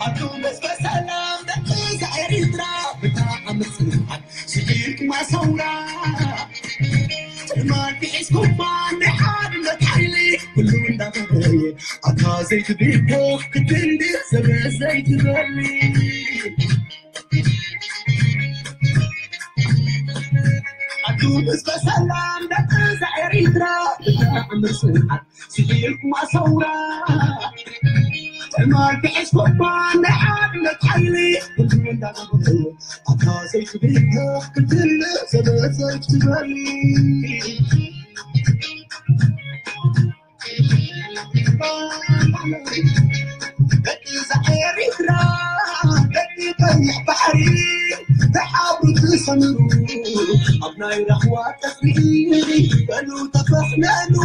ኣቱም እስከ ሰላም ደቂ ኤርትራ፣ ብጣዕሚ ጽንዓት ስዒርኩማ ሰውራ። ትማል ሒዝኩማ ናይ ሓድነት ሓይሊ፣ ኩሉ እንዳተረየ፣ ኣታ ዘይትብልዎ ክትንዲ፣ ሰበ ዘይትበሊ። ኣቱም እስከ ሰላም ደቂ ኤርትራ፣ ብጣዕሚ ጽንዓት ስዒርኩማ ሰውራ። ትማል ሒዝኩማ ናይ ሓድነት ሓይሊ፣ ኩሉ እንዳተረየ፣ ኣታ ዘይትብልዎ ክትንዲ፣ ሰበ ዘይትበሊ። ደቂ እዛ ኤርትራ፣ ደቂ ቀይሕ ባሕሪ፣ ተሓብሩ ትሰምሩ፣ ኣብ ናይ ራህዋ ቀጽሪ፣ በሉ ተፈሕነኑ፣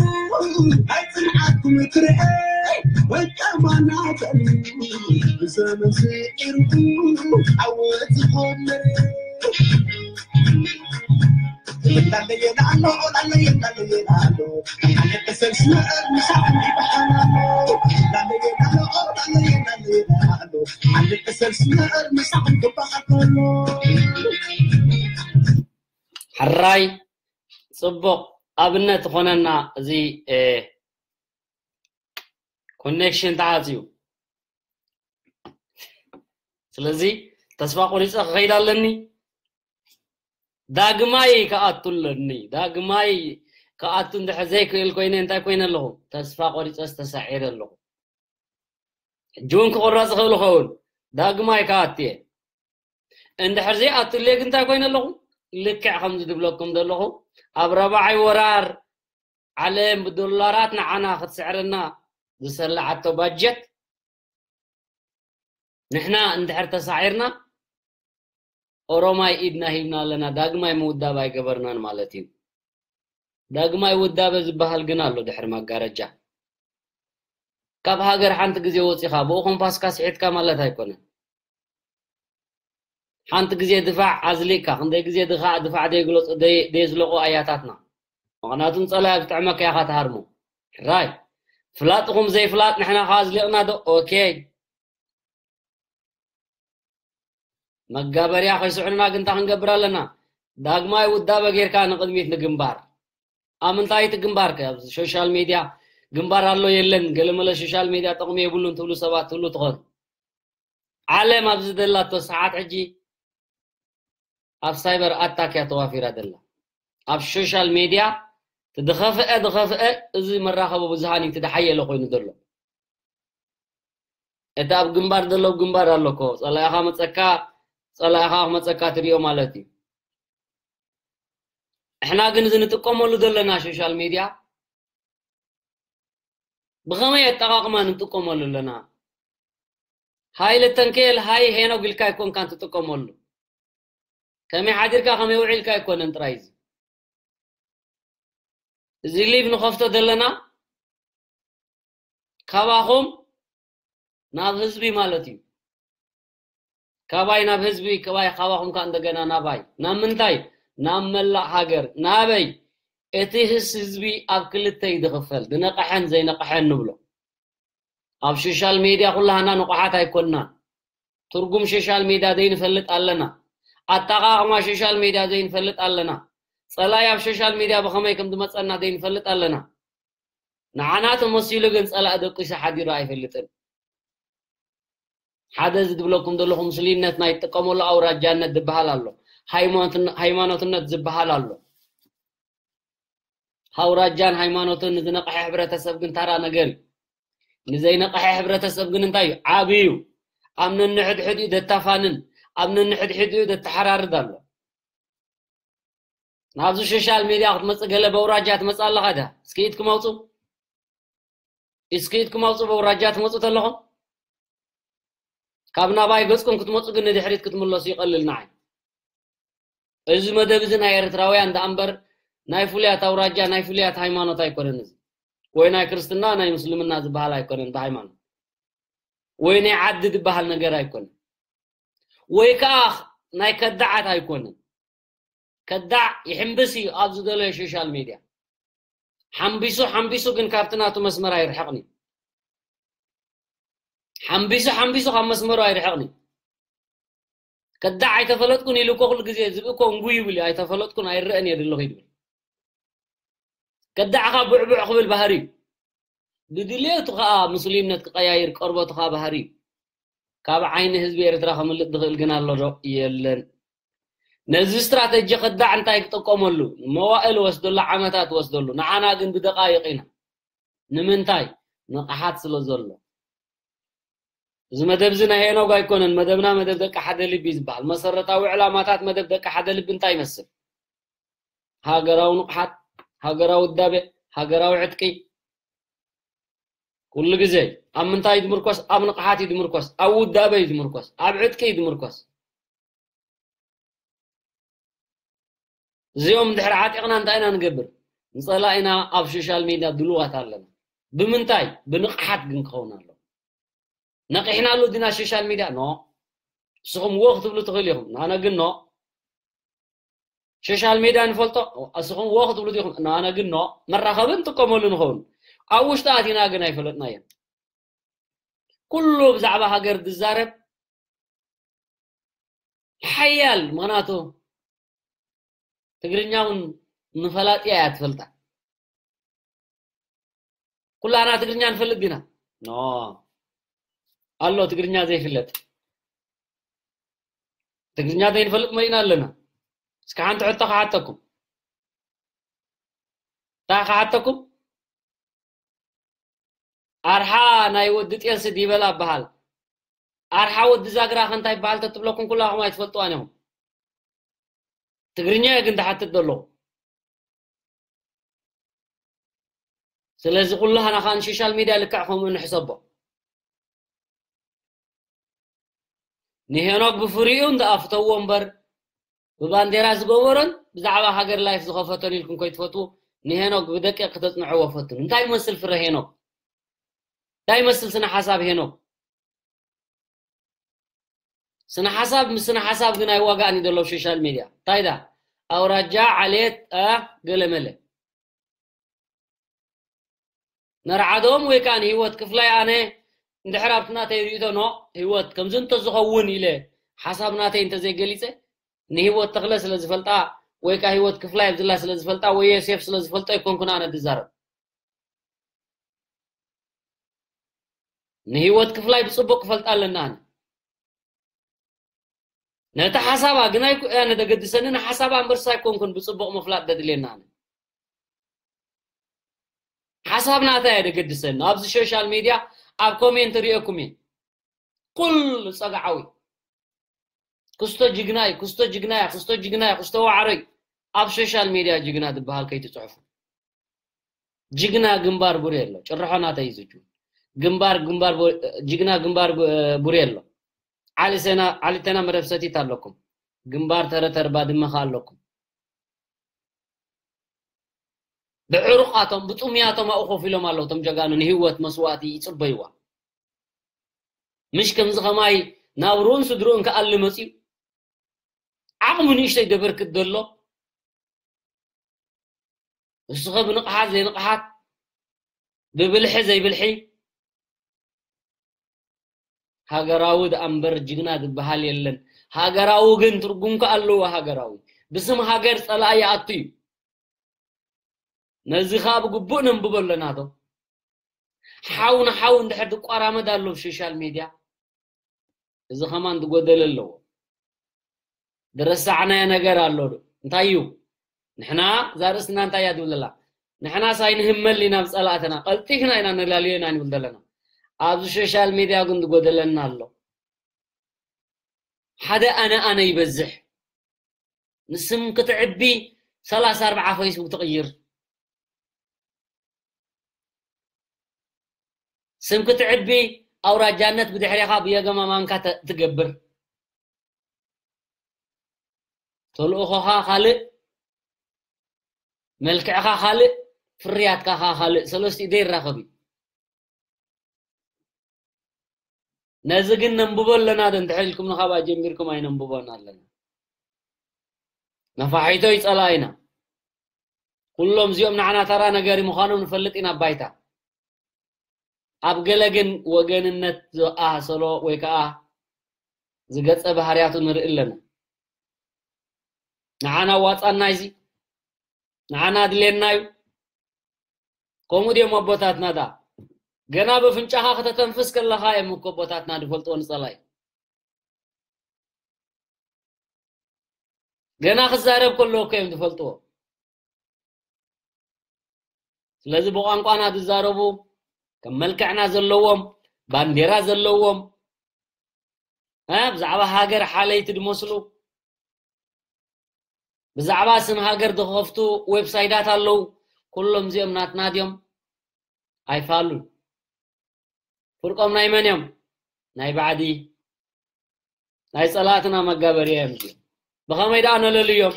ናይ ጽንዓትኩም ትርኤ፣ ወቀማና በሉ፣ ብዘመን ስዒርኩ፣ ዓወት ዝኾነ። ሕራይ ጽቡቕ ኣብነት ዝኾነና እዚ ኮኔክሽን ተዓጽዩ። ስለዚ ተስፋ ቆሪጸ ክኸይድ ኣለኒ። ዳግማይ ክኣቱ ኣለኒ። ዳግማይ ክኣቱ እንድሕር ዘይክእል ኮይነ እንታይ ኮይነ ኣለኹ? ተስፋ ቆሪጸስ ተሳዒረ ኣለኹ። ሕጂ እውን ክቑረጽ ይኽእል ይኸውን። ዳግማይ ክኣቱ እየ። እንድሕር ዘይኣቱለይ ግን እንታይ ኮይነ ኣለኹ? ልክዕ ከምዚ ዝብለኩም ዘለኹ ኣብ ራብዓይ ወራር ዓለም ብዶላራት ንዓና ክትስዕረና ዝሰላዓቶ ባጀት ንሕና እንድሕር ተሳዒርና ኦሮማይ ኢድና ሂብና ኣለና፣ ዳግማይ ምውዳብ ኣይገበርናን ማለት እዩ። ዳግማይ ውዳበ ዝበሃል ግን ኣሎ ድሕሪ መጋረጃ። ካብ ሃገር ሓንቲ ግዜ ወጺኻ ብኡ ኮምፓስካ ስሒትካ ማለት ኣይኮነን። ሓንቲ ግዜ ድፋዕ ኣዝሊቕካ ክንደይ ግዜ ድኻ ድፋዕ ደይግለጹ ደይ- ደየዝለቑ ኣያታትና። ምኽንያቱም ጸላይ ኣብ ዝጥዕመካ ኢኻ ትሃርሞ። ሕራይ ፍላጥኹም ዘይፍላጥ ንሕና ከኣ ኣዝሊቕና ዶ? ኦኬ። መጋበርያ ከይስዕኑና ግን እንታይ ክንገብር ኣለና? ዳግማይ ውዳበ ጌርካ ንቕድሚት ንግንባር። ኣብ ምንታይ እቲ ግንባር ከ? ኣብ ሶሻል ሜድያ ግንባር ኣሎ የለን፣ ገለመለ ሶሻል ሜድያ ጥቕሚ የብሉን ትብሉ ሰባት ትብሉ ትኾኑ። ዓለም ኣብዚ ዘላቶ ሰዓት ሕጂ ኣብ ሳይበር ኣታክ እያ ተዋፊራ ዘላ። ኣብ ሶሻል ሜድያ እቲ ዝኸፍአ ዝኸፍአ እዚ መራኸቢ ብዙሃን እዩ እቲ ዝሓየለ ኮይኑ ዘሎ። እቲ ኣብ ግንባር ዘሎ ኣብ ግንባር ኣሎ እኮ፣ ጸላኢኻ መጸካ፣ ጸላኢኻ ክመጸካ ትሪኦ ማለት እዩ። እሕና ግን እዚ ንጥቀመሉ ዘለና ሶሻል ሜድያ ብኸመይ ኣጠቓቕማ ንጥቀመሉ ኣለና? ሃይለ ተንከል ሃይ ሄኖግ ኢልካ ኣይኮንካን ትጥቀመሉ። ከመይ ሓዲርካ ከመይ ውዒልካ ኣይኮነን ጥራይ እዚ። እዚ ሊቭ ንኸፍቶ ዘለና ካባኹም ናብ ህዝቢ ማለት እዩ። ካባይ ናብ ህዝቢ፣ ካባይ ካባኹም ከኣ እንደገና ናባይ። ናብ ምንታይ? ናብ መላእ ሃገር። ናበይ? እቲ ህስ- ህዝቢ ኣብ ክልተ እዩ ዝኽፈል፣ ዝነቕሐን ዘይነቕሐን ንብሎ። ኣብ ሶሻል ሜድያ ኩላህና ንቑሓት ኣይኮንናን። ትርጉም ሶሻል ሜድያ ዘይንፈልጥ ኣለና። ኣጠቓቕማ ሶሻል ሜድያ ዘይንፈልጥ ኣለና። ጸላኢ ኣብ ሶሻል ሜድያ ብኸመይ ከም ዝመጸና ዘይንፈልጥ ኣለና። ንዓና ተመሲሉ ግን ጸላኢ ደቂሱ ሓዲሩ ኣይፈልጥን። ሓደ እዚ ዝብለኩም ዘለኹ ምስሉይነት ናይ ትጥቀመሉ ኣውራጃነት ዝበሃል ኣሎ። ሃይማኖትን- ሃይማኖትነት ዝበሃል ኣሎ። ኣውራጃን ሃይማኖትን ንዝነቕሐ ሕብረተሰብ ግን ታራ ነገር እዩ። ንዘይነቕሐ ሕብረተሰብ ግን እንታይ እዩ? ዓቢ እዩ። ኣብ ነንሕድሕዲኡ ደታፋንን ኣብ ነንሕድሕዲኡ ደተሓራርድ ኣሎ። ናብዚ ሶሻል ሜድያ ክትመጽእ ገለ በውራጃ ትመጽእ ኣለኻ ድያ? እስኪ ኢድኩም ኣውጹ። እስኪ ኢድኩም ኣውጹ በውራጃ ትመጹ ተለኹም። ካብ ናባይ ገጽኩም ክትመጹ ግን ንድሕሪት ክትምለሱ ይቐልል ንዓይ። እዚ መደብ እዚ ናይ ኤርትራውያን ደኣ እምበር ናይ ፍሉያት ኣውራጃ፣ ናይ ፍሉያት ሃይማኖት ኣይኮነን እዚ። ወይ ናይ ክርስትና፣ ናይ ምስልምና ዝበሃል ኣይኮነን ብሃይማኖት። ወይ ናይ ዓዲ ዝበሃል ነገር ኣይኮነን። ወይ ከዓ ናይ ከዳዓት ኣይኮነን። ከዳዕ ይሕምብስ እዩ ኣብ ዝደለዮ ሶሻል ሚድያ። ሓምቢሱ ሓምቢሱ ግን ካብቲ ናቱ መስመር ኣይርሕቕን እዩ። ሓምቢሱ ሓምቢሱ ካብ መስመሩ ኣይርሕቕን እዩ። ከዳዕ ኣይተፈለጥኩን ኢሉ እኮ ኩሉ ግዜ ዝብኢ እኮ እንጉ ይብል እዩ። ኣይተፈለጥኩን ኣይረአን እየ ዘለኹ ይብል። ከዳዕኻ ቡዕቡዕ ክብል ባህሪ እዩ። ብድሌቱ ከዓ ምስሉይነት ክቀያይር ቆርበቱ ከዓ ባህሪ እዩ። ካብ ዓይኒ ህዝቢ ኤርትራ ከምልጥ ዝኽእል ግን ኣሎ ዶ? የለን። ነዚ ስትራተጂ ከዳዕ እንታይ ክጥቀመሉ? መዋእል ወስደሉ፣ ዓመታት ወስደሉ። ንዓና ግን ብደቃይቕ ኢና። ንምንታይ? ንቕሓት ስለ ዘሎ። እዚ መደብ እዚ ናይ ሄኖግ ኣይኮነን። መደብና መደብ ደቂ ሓደ ልቢ ዝበሃል መሰረታዊ ዕላማታት መደብ ደቂ ሓደ ልቢ እንታይ ይመስል? ሃገራዊ ንቕሓት፣ ሃገራዊ ውዳቤ፣ ሃገራዊ ዕጥቂ። ኩሉ ግዜ ኣብ ምንታይ እዩ ዝምርኮስ? ኣብ ንቕሓት እዩ ዝምርኮስ፣ ኣብ ውዳቤ እዩ ዝምርኮስ፣ ኣብ ዕጥቂ እዩ ዝምርኮስ። እዚኦም እንድሕር ዓጢቕና እንታይ ኢና ንገብር? ንጸላኢና ኣብ ሶሻል ሚድያ ድልዋት ኣለና። ብምንታይ? ብንቕሓት ግን ክኸውን ኣሎ። ነቒሕናሉ ዲና ሶሻል ሚድያ? ኖ። ንስኹም ወ ክትብሉ ትኽእሉ ኢኹም፣ ንኣነ ግን ኖ። ሶሻል ሚድያ ንፈልጦ፣ ንስኹም ወ ክትብሉ ዲኹም፣ ንኣነ ግን ኖ። መራኸቢ ንጥቀመሉ ንኸውን፣ ኣብ ውሽጢ ኣቲና ግን ኣይፈለጥናዮን። ኩሉ ብዛዕባ ሃገር ዝዛረብ ሓያል፣ ምኽንያቱ ትግርኛ እውን ንፈላጢያ እያ ትፈልጣ። ኩላና ትግርኛ ንፈልጥ ዲና? ኖ። ኣሎ ትግርኛ ዘይፍለጥ። ትግርኛ ዘይንፈልጥ መሊእና ኣለና። እስኪ ሓንቲ ሕቶ ክሓተኩም። እንታይ ክሓተኩም? ኣርሓ ናይ ወዲ ጤልሲ ዲበላ በሃል። ኣርሓ ወዲ ዛግራ ከ እንታይ በሃል ተትብለኩም ኩላኹም ኣይትፈልጥዋን ኢኹም። ትግርኛ እየ ግን ዝሓትት ዘለኹ። ስለዚ ኩላህና ከኣ ንሶሻል ሚድያ ልክዕ ከምኡ ንሕሰቦ። ንሄኖክ ብፍሪኡ እንተኣፍተዎ እምበር፣ ብባንዴራ ዝገበሮን ብዛዕባ ሃገር ላይፍ ዝኸፈቶን ኢልኩም ከይትፈትዉ፣ ንሄኖክ ብደቂቕ ክተጽንዕዎ ፈትኑ። እንታይ ይመስል ፍረ ሄኖክ? እንታይ ይመስል ስነ ሓሳብ ሄኖክ? ስነ ሓሳብ ምስ ስነ ሓሳብ ግን ኣይዋጋእን እዩ ዘሎ ኣብ ሶሻል ሚድያ። እንታይ ዳ? ኣውራጃ፣ ዓሌት፣ አ፣ ገለመለ። ነርዓዶም ወይ ከዓ ንህይወት ክፍላይ ኣነ እንድሕር ኣብቲ ናተይ ርእይቶ ኖ ህይወት ከምዚ እንተዝኸውን ኢለ ሓሳብ ናተይ እንተዘይገሊጸ ንህይወት ተኽለ ስለ ዝፈልጣ ወይ ከዓ ህይወት ክፍላይ ኣብዝላ ስለ ዝፈልጣ ወይ ዮሴፍ ስለ ዝፈልጦ ኣይኮንኩን ኣነ ዝዛረብ። ንህይወት ክፍላይ ብጽቡቕ ክፈልጣ ኣለና ኣነ። ነቲ ሓሳባ ግን ኣይኮ-፣ ኣነ ደገድሰኒ ንሓሳባ እምበርስ ኣይኮንኩን ብጽቡቕ ምፍላጥ ደድልየና ኣነ። ሓሳብ ናታ እየ ደገድሰኒ። ኣብዚ ሶሻል ሚድያ ኣብ ኮሜንት ርእየኩም እየ። ኩሉ ጸግዓዊ። ክስቶ ጅግና እዩ፣ ክስቶ ጅግና እያ፣ ክስቶ ጅግና እያ፣ ክስቶ ዋዕሮ እዩ። ኣብ ሶሻል ሚድያ ጅግና ዝበሃል ከይትጽሕፉ። ጅግና ግንባር ቡሬ ኣሎ። ጭርሖ ናተይ እዩ ዝጁ። ግንባር፣ ግንባር ቡ-፣ ጅግና ግንባር ቡ-፣ ቡሬ ኣሎ። ዓሊ ሴና፣ ዓሊ ቴና መደብ ሰቲት ኣለኩም። ግንባር ተረተር ባድመ ከ ኣለኩም። ብዕሩቃቶም፣ ብጥሙያቶም ኣብኡ ኮፍ ኢሎም ኣለዉ። እቶም ጀጋኑ ንህይወት መስዋእቲ ይጽበይዋ። ምሽ ከምዚ ከማይ ናብ ሩኡን ስድርኡን ክኣሊ መጺኡ። ዓቕሙ ንእሽተይ ደበርክት ዘሎ። ንስኸ ብንቕሓት ዘይንቕሓት፣ ብብልሒ ዘይብልሒ፣ ሃገራዊ ደኣ እምበር ጅግና ዝበሃል የለን። ሃገራዊ ግን ትርጉም ከኣ ኣለዎ። ሃገራዊ ብስም ሃገር ጸላኢ ይኣቱ እዩ። ነዚ ከኣ ብግቡእ ነንብቦ ኣለና ዶ? ሓው ንሓው እንድሕር ዝቋራመድ ኣሎ ኣብ ሶሻል ሚድያ፣ እዚ ከማን ዝጎደለ ኣለዎ። ዝረሳዕናዮ ነገር ኣሎ ዶ? እንታይ እዩ? ንሕና እዛ ርእስና እንታይ እያ ትብል ዘላ? ንሕናስ ኣይንህመል ኢና ብጸላእትና፣ ቀልጢፍና ኢና ነላልዮ ኢና ንብል ዘለና። ኣብዚ ሶሻል ሚድያ ግን ዝጎደለና ኣሎ። ሓደ ኣነ ኣነ ይበዝሕ። ንስም ክትዕቢ ሰላሳ ኣርብዓ ፌስቡክ ትቕይር። ስም ክትዕቢ ኣውራጃነት ብድሕሬኻ ብየገማ ማንካ ተ-፣ ትገብር። ተልእኾኻ ካልእ፣ መልክዕኻ ካልእ፣ ፍርያትካ ኸኣ ካልእ። ሰለስቲኡ ዘይራኸብ እዩ። ነዚ ግን ነንብቦ ኣለና ዶ እንድሕር ኢልኩም ንኻብኣ ጀሚርኩም ኣይነንብቦን ኣለና። ነፋሒቶ ይጸላኢና። ኩሎም እዚኦም ንዓና ተራ ነገሪ ምዃኖም ንፈልጥ ኢና ባይታ። ኣብ ገለ ግን ወገንነት ዝኣሰሎ ወይ ከዓ ዝገጸ ባህርያቱ ንርኢ ኣለና። ንዓና ዋጻና እዚ ንዓና ኣድልየና እዩ። ከምኡ ድዮም ኣቦታትና ዳ? ገና በፍንጫኻ ከተተንፍስ ከለኻ እዮም እኮ ኣቦታትና ዝፈልጥዎ ንጸላይ። ገና ክዛረብ ከሎ እኮ እዮም ዝፈልጥዎ። ስለዚ ብቋንቋና ዝዛረቡ ከም መልክዕና ዘለዎም ባንዴራ ዘለዎም እ፣ ብዛዕባ ሃገር ሓለይቲ ዝመስሉ ብዛዕባ ስም ሃገር ዝኸፍቱ ዌብሳይታት ኣለዉ። ኩሎም እዚኦም ናትና ድዮም? ኣይፋሉን። ፍርቆም ናይ መን እዮም? ናይ ባዕዲ ናይ ጸላእትና መጋበርያ እዮም። እዚኦም ብኸመይ ደኣ ነለልዮም?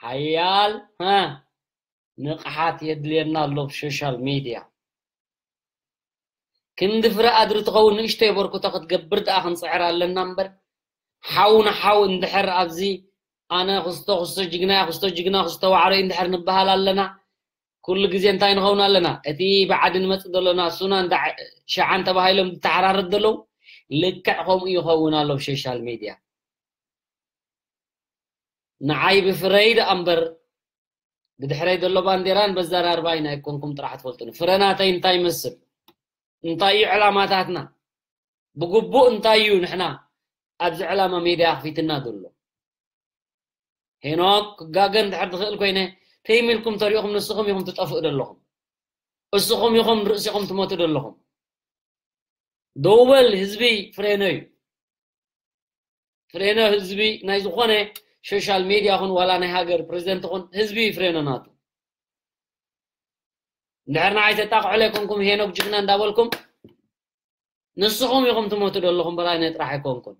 ሓያል እ፣ ንቕሓት የድልየና ኣሎ ብሶሻል ሚድያ። ክንዲ ፍረ ኣድሪ ትኸውን ንእሽተይ በርኩቶ ክትገብር ደኣ ክንጽዕር ኣለና እምበር፣ ሓው ንሓው እንድሕር ኣብዚ ኣነ ክስቶ ክስቶ ጅግና እያ፣ ክስቶ ጅግና ክስቶ ዋዕሮ እዩ እንድሕር ንበሃል ኣለና፣ ኩሉ ግዜ እንታይ ንኸውን ኣለና? እቲ ብዓዲ ንመጽእ ዘለና ሱናን ዳዕ-፣ ሸዓን ተባሂሎም ዝተሓራረድ ዘለዉ ልክዕ ከምኡ ይኸውን ኣሎ ብሶሻል ሚድያ። ንዓይ ብፍረይ ደኣ እምበር ብድሕረይ ዘሎ ባንዴራን በዘራርባይን ኣይኮንኩም ጥራሕ ትፈልጡኒ። ፍረ ናተይ እንታይ ይመስል? እንታይ እዩ ዕላማታትና? ብግቡእ እንታይ እዩ ንሕና ኣብዚ ዕላማ ሜድያ ኣኽፊትና ዘሎ? ሄኖክ ክጋገ እንድሕር ዝኽእል ኮይነ ተይም ኢልኩም ተሪእኹም ንስኹም ኢኹም ትጠፍኡ ዘለኹም። እስኹም ኢኹም ርእሲኹም ትሞቱ ዘለኹም። ደው በል ህዝቢ ፍሬኖ እዩ። ፍሬኖ ህዝቢ ናይ ዝኾነ ሶሻል ሜድያ ኹን ዋላ ናይ ሃገር ፕሬዚደንት ኹን ህዝቢ ፍሬኖ ናቱ። እንድሕር ንዓይ ተጣቕዑ ዘይኮንኩም ሄኖክ ጅግና እንዳበልኩም ንስኹም ኢኹም ትሞቱ ዘለኹም በራይ ናይ ጥራሕ ኣይኮንኩን።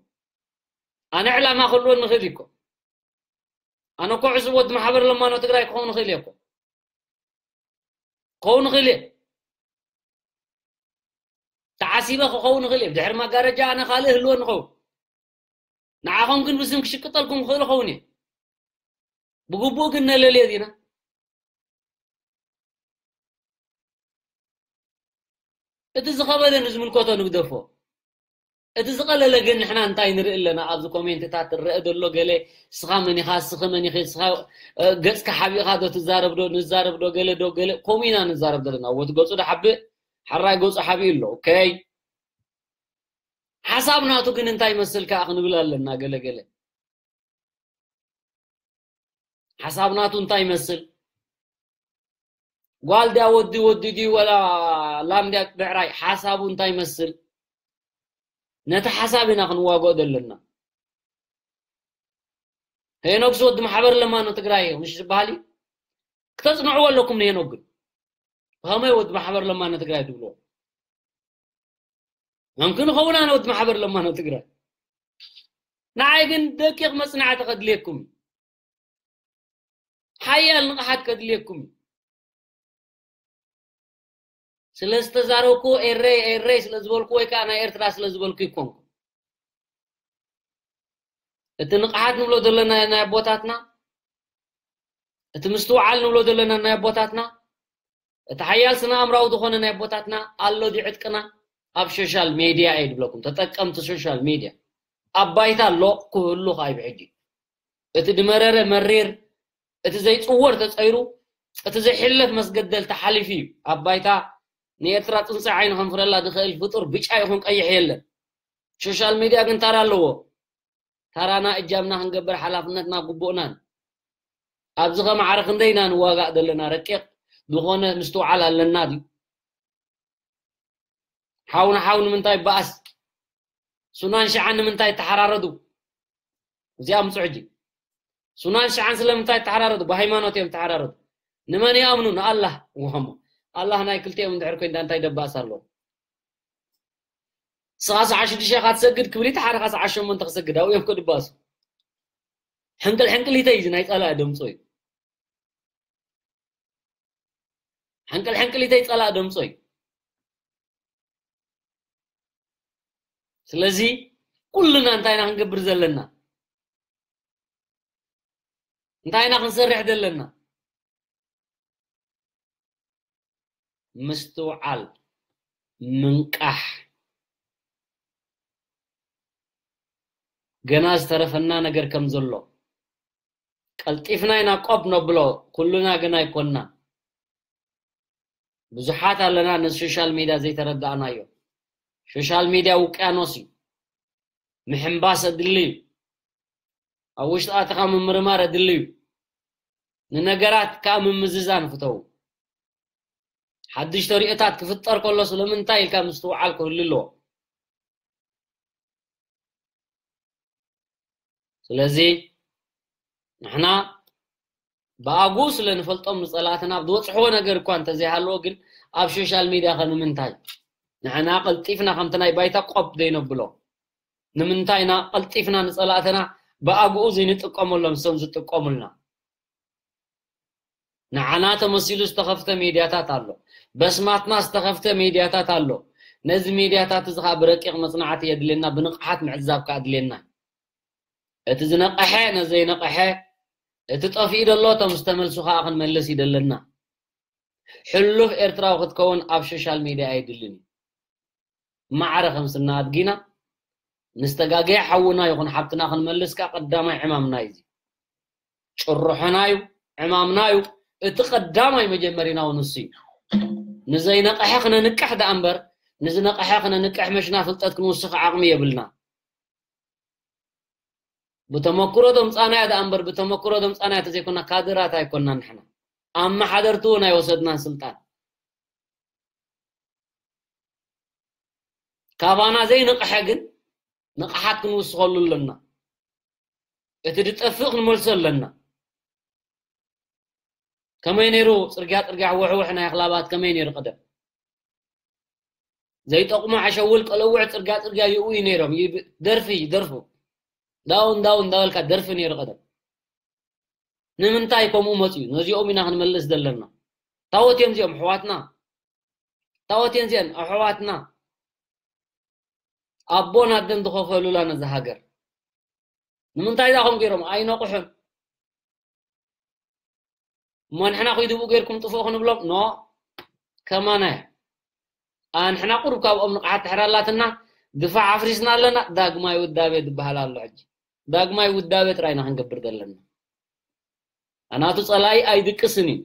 ኣነ ዕላማ ክህልወኒ ንኽእል እኮ። ኣነ እኮ ዕሱብ ወዲ ማሕበር ለማኖ ትግራይ ክኸውን ንኽእል እየ እኮ። ክኸውን ንኽእል እየ። ተዓሲበ ክኸውን ንኽእል እየ። ድሕሪ መጋረጃ ኣነ ካልእ ህልወ ንኸውን። ንዓኹም ግን ብስም ክሽቅጠልኩም ክኽእል ኸውን እየ። ብግቡእ ግን ነለልዮ ዲና? እቲ ዝኸበደ ንዝምልከቶ ንግደፎ። እቲ ዝቐለለ ግን ንሕና እንታይ ንርኢ ኣለና? ኣብዚ ኮሜንትታት ትረአ ዘሎ ገለ ስኻ መን ኢኻ፣ ስኺ መን ኢኺ፣ ስኻ፣ እ፣ ገጽካ ሓቢእኻ ዶ ትዛረብ ዶ ንዛረብ ዶ ገለ ዶ ገለ ከምኡ ኢና ንዛረብ ዘለና። ወቲ ገጹ ዶ ሓብእ፣ ሓራይ ገጹ ሓቢኡ ኣሎ። ኦኬ። ሓሳብ ናቱ ግን እንታይ ይመስል ከኣ ክንብል ኣለና ገለ ገለ። ሓሳብ ናቱ እንታይ ይመስል? ጓል ድያ ወዲ፣ ወዲ ድዩ ወላ ላም ድያ ብዕራይ? ሓሳቡ እንታይ ይመስል? ነቲ ሓሳብ ኢና ክንዋግኦ ዘለና። ሄኖክስ ወዲ ማሕበር ለማኖ ትግራይ እዩ፣ ምሽ ዝበሃል እዩ። ክተጽንዕዎ ኣለኩም ንሄኖክ ግን። ብኸመይ ወዲ ማሕበር ለማኖ ትግራይ ትብልዎ? መምክን ይኸውን ኣነ ወዲ ማሕበር ለማኖ ትግራይ። ንዓይ ግን ደቂቕ መጽናዕቲ ከድልየኩም እዩ። ሓያል ንቕሓት ከድልየኩም እዩ። ስለ ዝተዛረብኩ ኤረይ፣ ኤረይ ስለ ዝበልኩ ወይ ከዓ ናይ ኤርትራ ስለ ዝበልኩ ይኮንኩ። እቲ ንቕሓት ንብሎ ዘለና ናይ ኣቦታትና፣ እቲ ምስትውዓል ንብሎ ዘለና ናይ ኣቦታትና፣ እቲ ሓያል ስነ ኣእምራዊ ዝኾነ ናይ ኣቦታትና ኣሎ ድዩ ዕጥቅና? ኣብ ሶሻል ሜድያ እየ ዝብለኩም፣ ተጠቀምቲ ሶሻል ሜድያ። ኣብ ባይታ ኣሎ ክህሉ ከኣ እዩ ብሕጂ። እቲ ድመረረ መሪር፣ እቲ ዘይጽወር ተጸይሩ፣ እቲ ዘይሕለፍ መስገደል ተሓሊፉ እዩ። ኣብ ባይታ ንኤርትራ ጽንጽ ዓይኒ ከንፍረላ ዝኽእል ፍጡር ብጫ ይኹን ቀይሕ የለን። ሶሻል ሜድያ ግን ታራ ኣለዎ። ታራና እጃምና ክንገብር ሓላፍነትና ግቡእናን። ኣብዚ ከማዕረ ክንደይ ኢና ንዋጋእ ዘለና? ረቂቕ ዝኾነ ምስትውዓል ኣለና ድዩ? ሓው ንሓው ንምንታይ ይበኣስ? ሱናን ሽዓን ንምንታይ ይተሓራረዱ? እዚኣ ምጹ ሕጂ። ሱናን ሽዓን ስለምንታይ ይተሓራረዱ? ብሃይማኖት እዮም ይተሓራረዱ። ንመን ይኣምኑ? ንኣላህ። ወሞ ኣላህ ናይ ክልቲኦም እንድሕር ኮይንዳ እንታይ ደባእስ ኣለዎ? ንስኻ ሰዓት ሽዱሽተ ኢኻ ትሰግድ ክብል፣ እቲ ሓደ ኸዓ ሰዓት ሸሞንተ ክሰግድ፣ ኣብኡ እዮም ከድባሱ። ሕንቅል ሕንቅሊተይ እዚ ናይ ጸላኢ ደምጾ እዩ። ሕንቅል ሕንቅሊተይ ጸላኢ ደምጾ እዩ። ስለዚ ኩልና እንታይ ኢና ክንገብር ዘለና? እንታይ ኢና ክንሰርሕ ዘለና? ምስትውዓል፣ ምንቃሕ። ገና ዝተረፈና ነገር ከም ዘሎ ቀልጢፍና ኢና ቆብ ነብሎ። ኩልና ግን ኣይኮንና። ብዙሓት ኣለና ነዚ ሶሻል ሚድያ ዘይተረዳእናዮ። ሶሻል ሚድያ ውቅያኖስ እዩ። ምሕንባስ ኣድሊ እዩ። ኣብ ውሽጢ ኣትኻ ምምርማር ኣድሊ እዩ። ንነገራት ከዓ ምምዝዛን ፍተው። ሓድሽ ተሪኦታት ክፍጠር ከሎ ስለምንታይ ኢልካ ምስትውዓል ክህሉ ኣለዎ። ስለዚ ንሕና ብኣግኡ ስለ ንፈልጦም ንጸላእትና ዝወጽሕዎ ነገር እኳ እንተዘይሃለዎ፣ ግን ኣብ ሶሻል ሚድያ ከ ንምንታይ ንሕና ቀልጢፍና ከምቲ ናይ ባይታ ቆብ ዘይነብሎ? ንምንታይ ኢና ቀልጢፍና ንጸላእትና ብኣግኡ ዘይንጥቀመሎም ንሶም ዝጥቀሙልና? ንዓና ተመሲሉ ዝተኸፍተ ሚድያታት ኣሎ። በስማትና ዝተኸፍተ ሚድያታት ኣሎ። ነዚ ሚድያታት እዚ ኸዓ ብረቂቕ መጽናዕቲ የድልየና፣ ብንቕሓት ምዕዛብ ከኣ ኣድልየና። እቲ ዝነቐሐ ነዘይነቐሐ፣ እቲ ጠፊኡ ደሎ እቶም ዝተመልሱ ኸዓ ክንመልስ ይደለና። ሕሉፍ ኤርትራዊ ክትከውን ኣብ ሶሻል ሚድያ ኣይድልን እዩ። ማዕረ ከም ስና ኣድጊና ንዝተጋገየ ሓውና ይኹን ሓብትና ክንመልስ ከኣ ቀዳማይ ዕማምና እዩ። እዚ ጭርሖና እዩ፣ ዕማምና እዩ። እቲ ቀዳማይ መጀመሪና እውን ንሱ እዩ። ንዘይነቕሐ ክነንቅሕ ደኣ እምበር፣ ንዝነቕሐ ክነንቅሕ መሽና ፍልጠት ክንውስኽ ዓቕሚ የብልና። ብተመክሮ ዘምጻናያ ደኣ እምበር፣ ብተመክሮ ዘምጻናያ ተዘይኮና ካድራት ኣይኮንናን ንሕና። ኣመሓደርቲ እውን ኣይወሰድናን ስልጣን። ካባና ዘይንቕሐ ግን ንቕሓት ክንውስኸሉ ኣለና። እቲ ዝጠፍእ ክንመልሶ ኣለና። ከመይ ነይሩ ጽርግያ፣ ጽርግያ፣ ሕውሕውሕ ናይ ኣኽላባት ከመይ ነይሩ ቀደም? ዘይጠቕሙ ዓሸውል ቀለውዕ ጽርግያ፣ ጽርግያ ይእውዩ ነይሮም። ይብ-፣ ደርፊ ይደርፉ። ዳውን፣ ዳውን እንዳበልካ ደርፊ ነይሩ ቀደም። ንምንታይ ከምኡ መጽዩ? ነዚኦም ኢና ክንመልስ ዘለና። ታወት እዮም እዚኦም ኣሕዋትና። ታወት እየን እዚአን ኣሕዋትና። ኣቦን ኣደን ዝኸፈሉላ ነዛ ሃገር። ንምንታይ ዳ ከምኡ ገይሮም? ኣይነቕሑን። እሞ ንሕና ኺዱ ብኡ ጌርኩም ጥፍኡ ክንብሎም? ኖ፣ ከማና እያ። ኣንሕና ቁሩብ ካብኦም ንቕሓት ድሕር ኣላትና፣ ድፋዕ ኣፍሪስና ኣለና፣ ዳግማይ ውዳቤ ዝበሃል ኣሎ ሕጂ። ዳግማይ ውዳቤ ጥራይ ኢና ክንገብር ዘለና። ኣናቱ ጸላኢ ኣይድቅስን እዩ።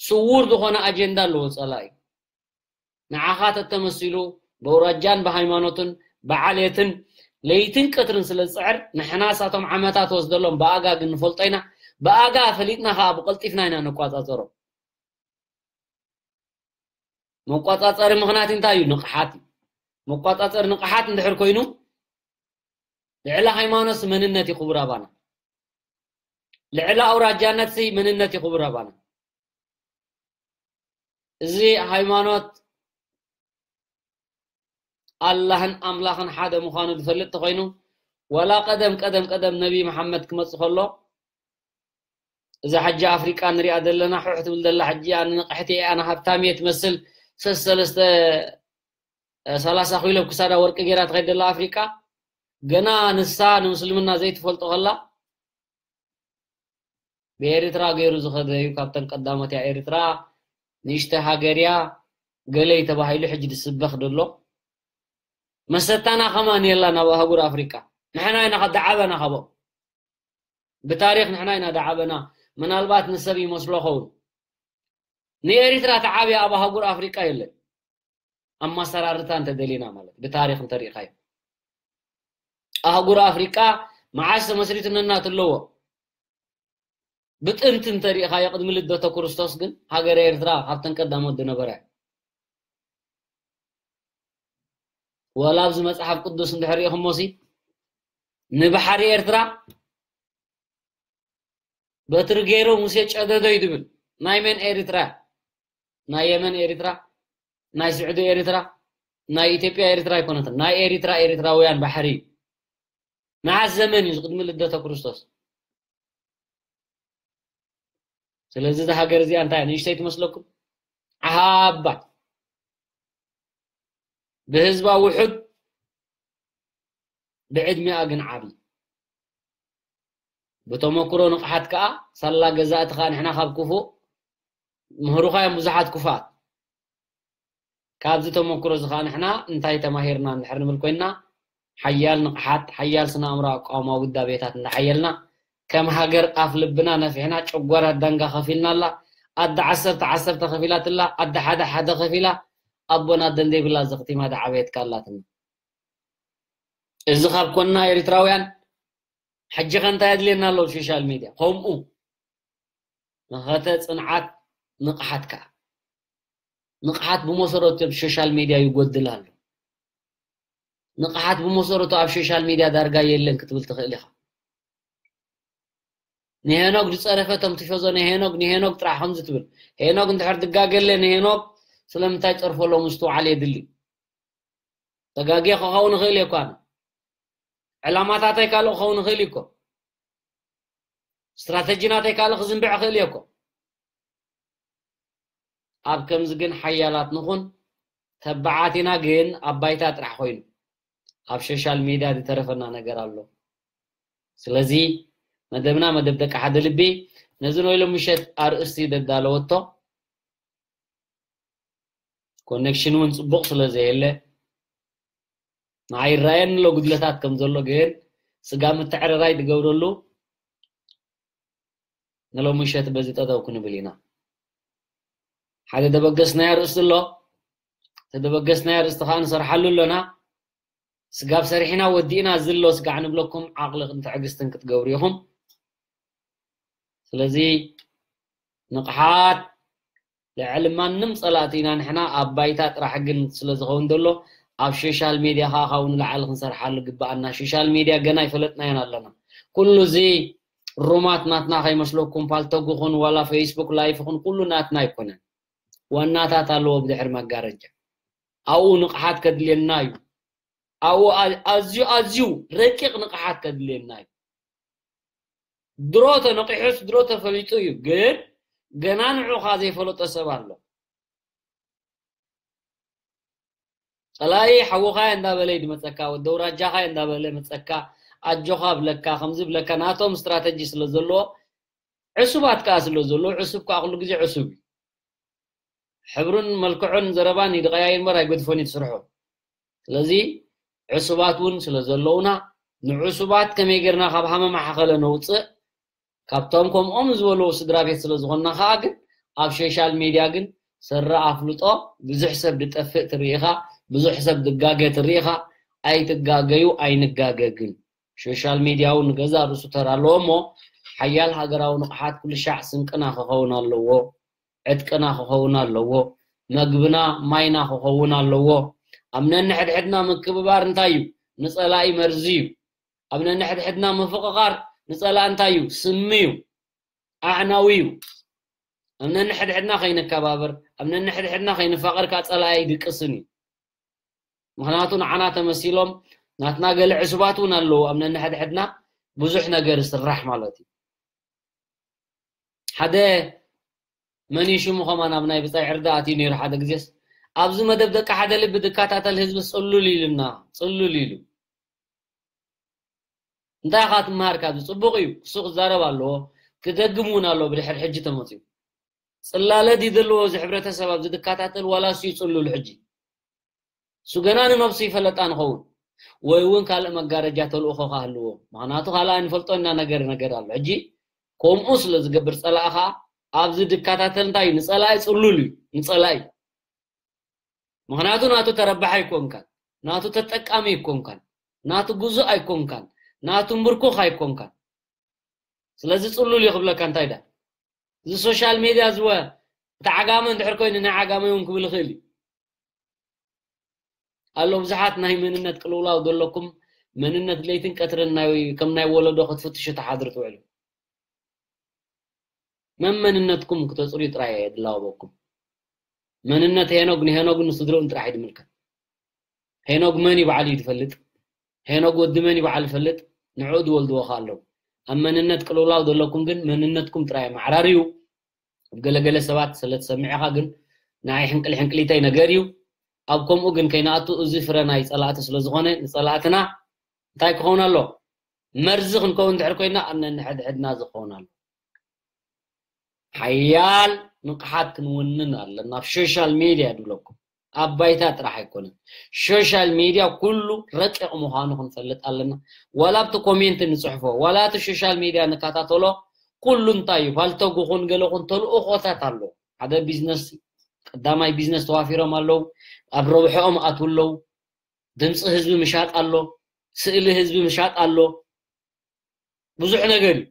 ስዉር ዝኾነ ኣጀንዳ ኣለዎ ጸላኢ። ንዓኻ ተተመሲሉ ብኣውራጃን ብሃይማኖትን ብዓሌትን ለይትን ቀትርን ስለ ዝጽዕር፣ ንሕና ሳቶም ዓመታት ወስደሎም ብኣጋ ግን ንፈልጦ ኢና። ብኣጋ ፈሊጥና ኸኣ ብቐልጢፍና ኢና ነቋጻጸሮ። መቋጻጸሪ ምኽንያት እንታይ እዩ? ንቕሓት እዩ። መቋጻጸሪ ንቕሓት እንድሕር ኮይኑ፣ ልዕሊ ሃይማኖት መንነት እዩ ክቡር ኣባና። ልዕሊ ኣውራጃነት ሲ መንነት እዩ ክቡር ኣባና። እዚ ሃይማኖት ኣላህን ኣምላኽን ሓደ ምዃኑ ዝፈልጥ ተኾይኑ፣ ዋላ ቀደም፣ ቀደም፣ ቀደም ነቢ መሓመድ ክመጽእ ከሎ፣ እዛ ሕጂ ኣፍሪቃ ንሪኣ ዘለና፣ ሑሕ ትብል ዘላ ሕጂ፣ ኣነ ንቕሕቲ እየ፣ ኣነ ሃብታም እየ ትመስል፣ ሰስ-፣ ሰለስተ፣ እ፣ ሰላሳ ኪሎ ክሳዳ ወርቂ ገይራ ትኸይድ ዘላ ኣፍሪቃ፣ ገና ንሳ ንምስልምና ዘይትፈልጦ ከላ፣ ብኤርትራ ገይሩ ዝኸደ እዩ። ካብተን ቀዳሞት እያ ኤርትራ፣ ንእሽተይ ሃገር እያ፣ ገለይ ተባሂሉ ሕጂ ዝስበኽ ዘሎ። መሰታና ከማን የላን ኣብ ኣህጉር ኣፍሪቃ። ንሕና ኢና ዳዓበና ካብኦም። ብታሪኽ ንሕና ኢና ዳዓበና። ምናልባት ንሰብ ይመስሎ ኸውን። ንኤርትራ ተዓብያ ኣብ ኣህጉር ኣፍሪቃ የለን። ኣመሰራርታ እንተደሊና ማለት ብታሪኽ እንተሪእኻዮ። ኣህጉር ኣፍሪቃ መዓስ ተመስሪቱ ነናቱ ኣለዎ። ብጥንቲ እንተሪእኻዮ ቅድሚ ልደተ ክርስቶስ ግን ሃገረ ኤርትራ ካብተን ቀዳሞት ዝነበረ። ወላ ኣብዚ መጽሓፍ ቅዱስ እንድሕር ርኢኹሞሲ ንባሕሪ ኤርትራ በትሪ ገይሩ ሙሴ ጨደዶ እዩ ዝብል። ናይ መን ኤርትራ? ናይ የመን ኤርትራ? ናይ ስዑዲ ኤርትራ? ናይ ኢትዮጵያ ኤርትራ ኣይኮነትን። ናይ ኤርትራ ኤርትራውያን ባሕሪ እዩ። መዓስ ዘመን እዩ? ቅድሚ ልደተ ክርስቶስ። ስለዚ እዛ ሃገር እዚኣ እንታይ ንእሽተይ ትመስለኩም? ዓባይ። ብህዝባ ውሑድ፣ ብዕድሚኣ ግን ዓቢ። ብተመክሮ ንቕሓት ከኣ ሳላ ገዛእቲ ከኣ ንሕና ካብ ክፉእ ምህሩኻ እዮም ብዙሓት ክፉኣት። ካብዚ ተመክሮ እዚ ከኣ ንሕና እንታይ ተማሂርና እንድሕር ንብል ኮይንና፣ ሓያል ንቕሓት፣ ሓያል ስነ ኣእምሮ ኣቃውማ ውዳቤታት እንዳሓየልና፣ ከም ሃገር ኣፍ ልብና ነፊሕና፣ ጨጓራ ዳንጋ ከፊልና ኣላ፣ ኣደ ዓሰርተ ዓሰርተ ከፊላትላ፣ ኣደ ሓደ ሓደ ከፊላ፣ ኣቦን ኣደን ዘይብላ ዘኽቲማ ዳዓበየትካ ኣላትና። እዚ ካብ ኮንና ኤርትራውያን፣ ሕጂ ከ እንታይ ኣድልየና ኣሎ ኣብ ሶሻል ሚድያ? ከምኡ መኸተ ጽንዓት፣ ንቕሓት ከኣ። ንቕሓት ብመሰረቱ ኣብ ሶሻል ሚድያ ይጎድል ኣሎ። ንቕሓት ብመሰረቱ ኣብ ሶሻል ሚድያ ዳርጋ የለን ክትብል ትኽእል ኢኻ። ንሄኖግ ዝጸረፈ እቶም ቲፎዞ ንሄኖግ፣ ንሄኖግ ጥራሕ ከምዚ ትብል። ሄኖግ እንድሕር ድጋገለ ንሄኖግ ስለምንታይ ጸርፎ ኣሎ ምስትውዓል የድሊ። ተጋግየ ክኸውን ይኽእል እየ እኮ ኣነ። ዕላማታተይ ካልእ ክኸውን ይኽእል እዩ እኮ። ስትራተጂ ናተይ ካልእ ክዝንብዕ ይኽእል እየ እኮ። ኣብ ከምዚ ግን ሓያላት ንኹን። ተባዓት ኢና ግን ኣብ ባይታ ጥራሕ ኮይኑ። ኣብ ሶሻል ሚድያ ዝተረፈና ነገር ኣሎ። ስለዚ መደብና መደብ ደቂ ሓደ ልቢ፣ ነዚ ናይ ሎም ምሸት ኣርእስቲ ደዳለወቶ፣ ኮኔክሽን እውን ጽቡቕ ስለ ዘየለ፣ ንዓይ ይረኣየኒ ኣሎ ጉድለታት ከም ዘሎ፣ ግን ስጋ ምትዕርራይ ትገብረሉ ንሎም ምሸት በዚ ጠጠው ክንብል ኢና። ሓደ ደበገስናዮ ኣርእስቲ ኣሎ። እቲ ደበገስናዮ ኣርእስቲ ከኣ ንሰርሓሉ ኣለና። ስጋብ ሰሪሕና ወዲእና ዝሎ ስጋዕ ንብለኩም ዓቕልን ትዕግስትን ክትገብሩ ኢኹም። ስለዚ ንቕሓት ልዕሊ ማንም ጸላእቲ ኢና ንሕና። ኣብ ባይታ ጥራሕ ግን ስለ ዝኸውን ዘሎ ኣብ ሶሻል ሜድያ ከኣ ካብኡ ንላዕሊ ክንሰርሓሉ ግብኣና። ሶሻል ሜድያ ገና ኣይፈለጥናዮን ኣለና። ኩሉ እዚ ሩማት ናትና ከይመስለኩም፣ ፓልቶግ ይኹን ዋላ ፌስቡክ ላይፍ ይኹን ኩሉ ናትና ኣይኮነን። ዋናታት ኣለዎ ብድሕሪ መጋረጃ። ኣብኡ ንቕሓት ከድልየና እዩ። ኣብኡ ኣ-፣ ኣዝዩ፣ ኣዝዩ ረቂቕ ንቕሓት ከድልየና እዩ። ድሮ ተነቒሑስ ድሮ ተፈሊጡ እዩ፣ ግን ገና ንዑኻ ዘይፈለጦ ሰብ ኣሎ። ጸላኢ ሓውኻ እንዳበለ እዩ ዝመጸካ፣ ወዲ ኣውራጃኻ እንዳበለ መጸካ፣ ኣጆኻ ብለካ፣ ከምዚ ብለካ፣ ናቶም ስትራተጂ ስለ ዘለዎ፣ ዕሱባት ከኣ ስለ ዘለዎ፣ ዕሱብ ከኣ ኩሉ ግዜ ዕሱብ እዩ። ሕብሩን መልክዑን ዘረባን ይድቐያየር እምበር ኣይገድፎን እዩ እቲ ስርሑ። ስለዚ ዕሱባት እውን ስለ ዘለውና፣ ንዕሱባት ከመይ ጌርና ካብ ሃመማ ሓኸለ ነውጽእ፣ ካብቶም ከምኦም ዝበሉ ስድራ ቤት ስለ ዝኾንና ከኣ ግን ኣብ ሶሻል ሜድያ ግን ሰረ ኣፍልጦ ብዙሕ ሰብ ዝጠፍእ ትርኢ ኢኻ፣ ብዙሕ ሰብ ዝጋገ ትርኢ ኢኻ። ኣይትጋገዩ፣ ኣይንጋገ ግን። ሶሻል ሜድያ እውን ንገዛእ ርእሱ ተራ ኣለዎ እሞ፣ ሓያል ሃገራዊ ንቕሓት ኩሉ ሻዕ ስንቅና ክኸውን ኣለዎ፣ ዕጥቅና ክኸውን ኣለዎ፣ መግብና ማይና ክኸውን ኣለዎ። ኣብ ነንሕድሕድና ምክብባር እንታይ እዩ? ንጸላኢ መርዚ እዩ። ኣብ ነንሕድሕድና ምፍቕቓር ንጸላኢ እንታይ እዩ? ስሚ እዩ፣ ኣዕናዊ እዩ። ኣብ ነንሕድሕድና ከይንከባበር፣ ኣብ ነንሕድሕድና ከይንፋቐር ከኣ ጸላኢ ኣይድቅስን እዩ። ምኽንያቱ ንዓና ተመሲሎም ናትና ገለ ዕሱባት እውን ኣለዉ። ኣብ ነንሕድሕድና ብዙሕ ነገር ይስራሕ ማለት እዩ። ሓደ መን እዩ ሽሙ ከማን ኣብ ናይ ብጻይ ዕርዲ ኣትዩ ነይሩ ሓደ ግዜስ፣ ኣብዚ መደብ ደቂ ሓደ ልቢ ዝከታተል ህዝቢ ጽሉል ኢሉና፣ ጽሉል ኢሉ። እንታይ ኢኻ ትመሃር ካብዚ? ጽቡቕ እዩ፣ እሱ ክዛረብ ኣለዎ፣ ክደግም እውን ኣለዎ። ብድሕሪ ሕጂ ተመጺኡ ጽላለ ድዩ ዘለዎ እዚ ሕብረተሰብ ኣብዚ ዝከታተል፣ ዋላ እሱ እዩ ጽሉል ሕጂ? እሱ ገና ንነብሱ ይፈለጣ ንኸውን፣ ወይ እውን ካልእ መጋረጃ ተልእኾ ክህልዎ። ምኽንያቱ ካልእ ኣይንፈልጦ ኢና ነገር፣ ነገር ኣሎ። ሕጂ ከምኡ ስለ ዝገብር ጸላኢ ኸኣ ኣብዚ ዝከታተል እንታይ እዩ? ንጸላኢ ጽሉል እዩ፣ ንጸላኢ። ምኽንያቱ ናቱ ተረባሒ ኣይኮንካን፣ ናቱ ተጠቃሚ ኣይኮንካን፣ ናቱ ግዙእ ኣይኮንካን፣ ናቱ ምርኩኽ ኣይኮንካን። ስለዚ ጽሉል እዩ ክብለካ እንታይ ዳ? እዚ ሶሻል ሜድያ ዝወ፣ እቲ ዓጋመ እንድሕር ኮይኑ ናይ ዓጋመ እውን ክብል ይኽእል እዩ። ኣሎ ብዙሓት ናይ መንነት ቅልውላው ዘለኩም፣ መንነት ለይትን ቀትርን ናይ፣ ከም ናይ ወለዶ ክትፍትሹ ትሓድሩ ትውዕሉ። መን መንነትኩም ክተጽርዩ ጥራይ እየ ድላወበኩም። መንነት ሄኖግ ንሄኖግን ንስድርኡን ጥራሕ እዩ ዝምልከት። ሄኖግ መን እዩ ባዕሉ እዩ ዝፈልጥ። ሄኖግ ወዲ መን እዩ ባዕሉ ይፈልጥ። ንዕኡ ዝወልድዎ ከ ኣለዉ። ኣብ መንነት ቅልውላው ዘለኩም ግን መንነትኩም ጥራይ ኣመዓራርዩ። ኣብ ገለገለ ሰባት ስለ ትሰምዕ ኢኻ ግን ንዓይ ሕንቅል ሕንቅሊተይ ነገር እዩ። ኣብ ከምኡ ግን ከይንኣቱ እዚ ፍረ ናይ ጸላእቲ ስለ ዝኾነ ንጸላእትና እንታይ ክኸውን ኣሎ? መርዚ ክንከውን እንድሕር ኮይና፣ ኣብ ነንሕድሕድና ዝኸውን ኣሎ። ሓያል ንቕሓት ክንውንን ኣለና ኣብ ሶሻል ሚድያ ድብለኩም። ኣብ ባይታ ጥራሕ ኣይኮነን። ሶሻል ሚድያ ኩሉ ረቂቕ ምዃኑ ክንፈልጥ ኣለና። ዋላ ኣብቲ ኮሜንት ንጽሕፎ፣ ዋላ እቲ ሶሻል ሚድያ ንከታተሎ፣ ኩሉ እንታይ እዩ፣ ፓልቶግ ይኹን ገለ ይኹን ተልእኾታት ኣለዎ። ሓደ ቢዝነስ፣ ቀዳማይ ቢዝነስ ተዋፊሮም ኣለዉ፣ ኣብ ረብሐኦም ኣትዉ ኣለዉ። ድምፂ ህዝቢ ምሻጥ ኣሎ፣ ስእሊ ህዝቢ ምሻጥ ኣሎ፣ ብዙሕ ነገር እዩ።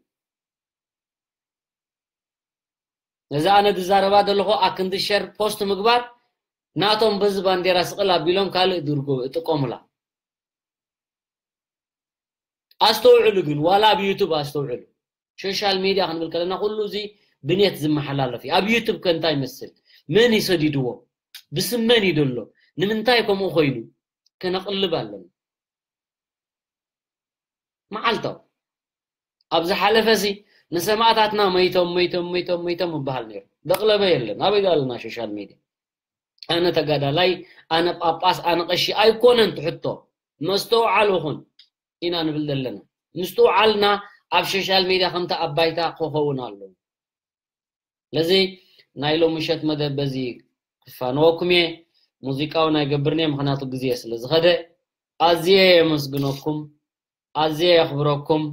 ነዚ ኣነ ዝዛረባ ዘለኹ ኣክንዲ ሸር ፖስት ምግባር ናቶም በዚ ባንዴራ ስቕል ኣቢሎም ካልእ ድርጎ እጥቀሙላ። ኣስተውዕሉ ግን፣ ዋላ ኣብ ዩቱብ ኣስተውዕሉ። ሶሻል ሚድያ ክንብል ከለና ኩሉ እዚ ብኔት ዝመሓላለፍ እዩ። ኣብ ዩቱብ ከ እንታይ ይመስል? መን ይሰዲድዎ? ብስም መን እዩ ደሎ? ንምንታይ ከምኡ ኮይኑ? ከነቕልብ ኣለና። መዓልታው ኣብ ዝሓለፈ ሲ ንሰማእታትና መይቶም፣ መይቶም፣ መይቶም፣ መይቶም ይበሃል ነይሩ። ደቕለበ የለን። ኣበይ ዶ ኣለና ሶሻል ሚድያ? ኣነ ተጋዳላይ፣ ኣነ ጳጳስ፣ ኣነ ቀሺ ኣይኮነን ትሕቶ። መስተውዓል ይኹን ኢና ንብል ዘለና። ምስትውዓልና ኣብ ሶሻል ሚድያ ከምቲ ኣብ ባይታ ክኸውን ኣለዎ። ስለዚ ናይ ሎሚ ምሸት መደብ በዚ ክፋነወኩም እየ። ሙዚቃ እውን ኣይገብርን እየ፣ ምኽንያቱ ግዜ ስለ ዝኸደ። ኣዝየ የመስግነኩም፣ ኣዝየ የኽብረኩም።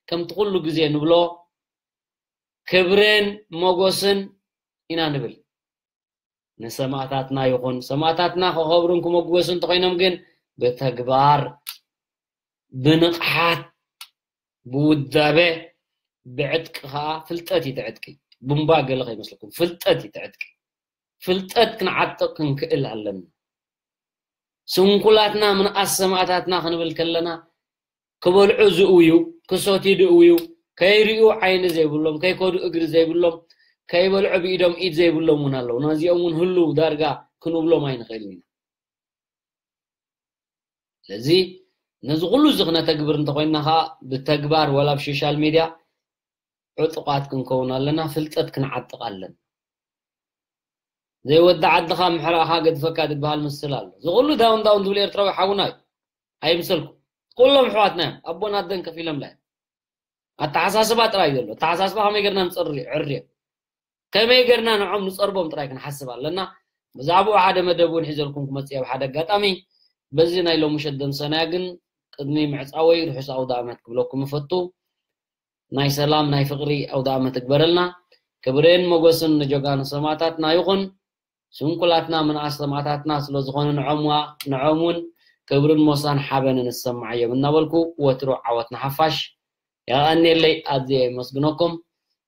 ከምቲ ኩሉ ግዜ ንብሎ፣ ክብርን ሞጎስን ኢና ንብል። ንሰማእታትና ይኹን። ሰማእታትና ክኸብሩን ክመጎሱ እንተኾይኖም ግን ብተግባር፣ ብንቕሓት፣ ብውዳበ፣ ብዕጥቂ ኸኣ፣ ፍልጠት እዩ እቲ ዕጥቂ። ቡምባ ገለ ከይመስለኩም፣ ፍልጠት እዩ እቲ ዕጥቂ። ፍልጠት ክንዓጥቕ ክንክእል ኣለና። ስንኩላትና ምንኣስ ሰማእታትና ክንብል ከለና፣ ክበልዑ ዝእውዩ፣ ክሰትዩ ዝእውዩ፣ ከይርእዩ ዓይኒ ዘይብሎም፣ ከይከዱ እግሪ ዘይብሎም፣ ከይበልዑ ብኢዶም ኢድ ዘይብሎም እውን ኣለዉ። ነዚኦም እውን ህልው ዳርጋ ክንብሎም ኣይንኽእልን ኢና። ስለዚ ነዚ ኩሉ እዚ ክነተግብር እንተኾይንና ኸዓ ብተግባር ዋላ ኣብ ሶሻል ሚድያ ዕጡቓት ክንከውን ኣለና፣ ፍልጠት ክንዓጥቕ ኣለና። ዘይወዲ ዓድኻ ምሕራእኻ ገድፈካ ዝበሃል ምስል ኣሎ። እዚ ኩሉ ዳውን ዳውን ዝብል ኤርትራዊ ሓውና እዩ። ኣይምሰልኩም። ኩሎም ኣሕዋትና እዮም። ኣቦን ኣደን ከፊሎምላ እዮም። ኣተሓሳስባ ጥራይ ዘሎ። ኣተሓሳስባ ከመይ ጌርና ንጸሪ-፣ ዕርዮ? ከመይ ጌርና ንዖም ንጸርቦም ጥራይ ክንሓስብ ኣለና። ብዛዕባኡ ሓደ መደብ እውን ሒዘልኩም ክመጽእ እየ ብሓደ ኣጋጣሚ። በዚ ናይ ሎሚ ምሸት ደምሰናያ ግን ቅድሚ ምዕጻወይ ርሑስ ኣውደ ኣመት ክብለኩም እፈቱ። ናይ ሰላም ናይ ፍቕሪ ኣውደ ኣመት እግበረልና። ክብርን ሞገስን ንጀጋኑ ሰማእታትና ይኹን። ስንኩላትና ምንኣስ ሰማእታትና ስለ ዝኾኑ ንዖምዋ-፣ ንዖም እውን ክብርን ሞሳን ሓበንን ዝሰማዓዮም እናበልኩ ወትሩ ዓወት ንሓፋሽ። የቐንየለይ፣ ኣዝየ የመስግነኩም።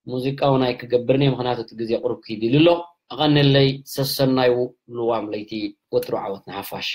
ሙዚቃ እውን ኣይክገብርን እየ፣ ምኽንያቱ እቲ ግዜ ቁሩብ ክይድ ኢሉ ኣሎ። ኣቐንየለይ፣ ሰሰናዩ ልዋም ለይቲ፣ ወትሩ ዓወት ንሓፋሽ።